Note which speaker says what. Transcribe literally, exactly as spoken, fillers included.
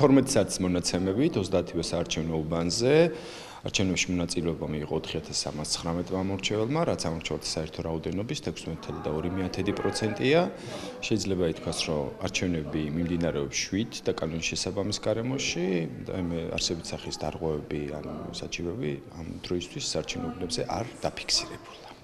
Speaker 1: თორმეტ საათის მონაცემებით ოცდაათივე საარჩევნო უბანზე არჩევნებში მონაწილეობა მიიღო ოთხი ათას სამას ცხრამეტ მამორჩეველმა, რაც ამორჩეველთა საერთო რაოდენობის თექვსმეტ ცხრამეტ და ორი მეათედი პროცენტია. შეიძლება ითქვას, რომ არჩევნები მიმდინარეობს შვიდ და კანონის შესაბამის გარემოში, და მე არსებით სახის დარღვევები ან საჩივები ამ დროისთვის საარჩევნო უბნებზე არ დაფიქსირებულა.